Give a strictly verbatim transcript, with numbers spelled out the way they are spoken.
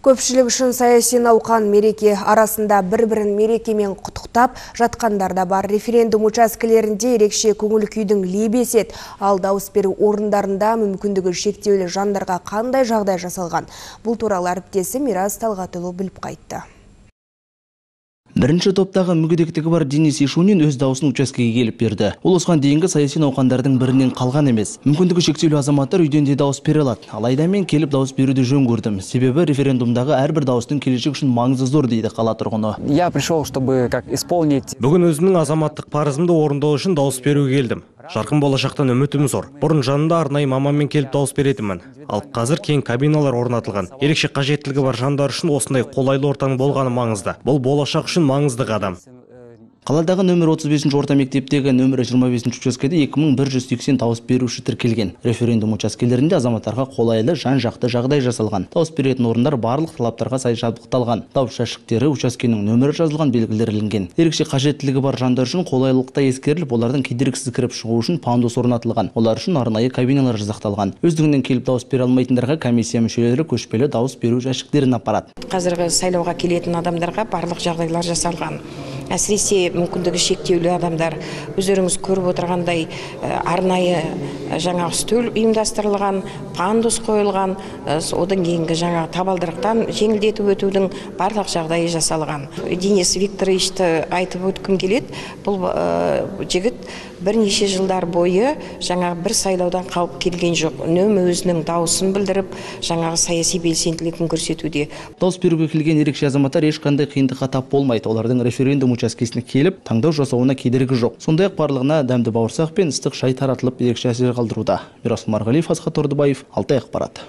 Көпшілік үшін саяси науқан мереке арасында бір-бірін мерекемен құттықтап жатқандар да бар. Референдум учаскелерінде ерекше көңіл күйдің лебесі еді. Ал дауыс беру орындарында мүмкіндігі шектеулі жандарға қандай жағдай жасалған? Бұл туралы әріптесім Мирас Талғатұлы біліп қайтты. Бірінші топтағы мүгедектігі бар Денис Ишунин өз дауысын учаскеге келіп берді. Ол осыған дейінгі саяси науқандардың бірінен қалған емес. Мүмкіндігі шектеулі азаматтар үйден де дауыс бере алады. Алайда мен келіп дауыс беруді жөн көрдім. Себебі референдумдағы әрбір дауыстың келешек үшін маңызы зор дейді қала тұрғыны. Я пришел, чтобы как исполнить. Бүгін өзімнің азаматтық парызымды орындау үшін дауыс беруге келдім. Жарқын болашақтан үмітім зор. Бұрын жанында арнайы маманмен келіп дауыс беретінмін. Ал қазір кең кабиналар орнатылған. Ерекше қажеттілігі бар жандар үшін осындай қолайлы ортаның болғаны маңызды. Бұл болашақ үшін маңызды қадам. Қаладағы нөмір отыз бесінші орта мектептегі нөмірі жиырма бесінші учаскеде екі мың бір жүз сексен дауыс беруші тіркелген. Референдум учаскелерінде азаматтарға қолайлы жан-жақты жағдай жасалған. Дауыс беретін орындар барлық талаптарға сай жабдықталған. Дауыс жәшіктері учаскенің нөмірі жазылған белгілер ілінген. Ерекше қажеттілігі бар жандар үшін қолайлылықта ескеріліп, олардың кедергісіз кіріп шығу үшін пандус орнатылған. Олар үшін арнайы кабиналар жасақталған. Өздігінен келіп дауыс бере алмайтындарға комиссия мүшелері көшпелі дауыс беру жәшіктерін апарады. Қазіргі сайлауға келетін адамдарға барлық жағдайлар жасалған. Әсіресе мүмкіндігі шектеулі адамдар өздеріңіз көріп отырғандай арнайы жаңа стөл ұйымдастырылған, пандус қойылған, одан кейінгі жаңа табалдырықтан жеңілдетіп өтудің барлық жағдайы жасалған. Денис Викторовичті айтып өткім келеді. Бұл жігіт бірнеше жылдар бойы жаңа бір сайлаудан қалып келген жоқ. Үнемі өзінің дауысын білдіріп, жаңағы саяси белсенділігін көрсетуде. Дауыс беруге келген ерекше азаматтар ешқандай қиындыққа тап болмайды. Олардың референдум учаскесіне келіп, таңдау жасауына кедергі жоқ. Сондай-ақ барлығына дәмді бауырсақ пен ыстық шай таратылып, ерекше әсер қалдыруда. Мирас Марғалиев, Асхат Ордыбаев, Алтай ақпарат.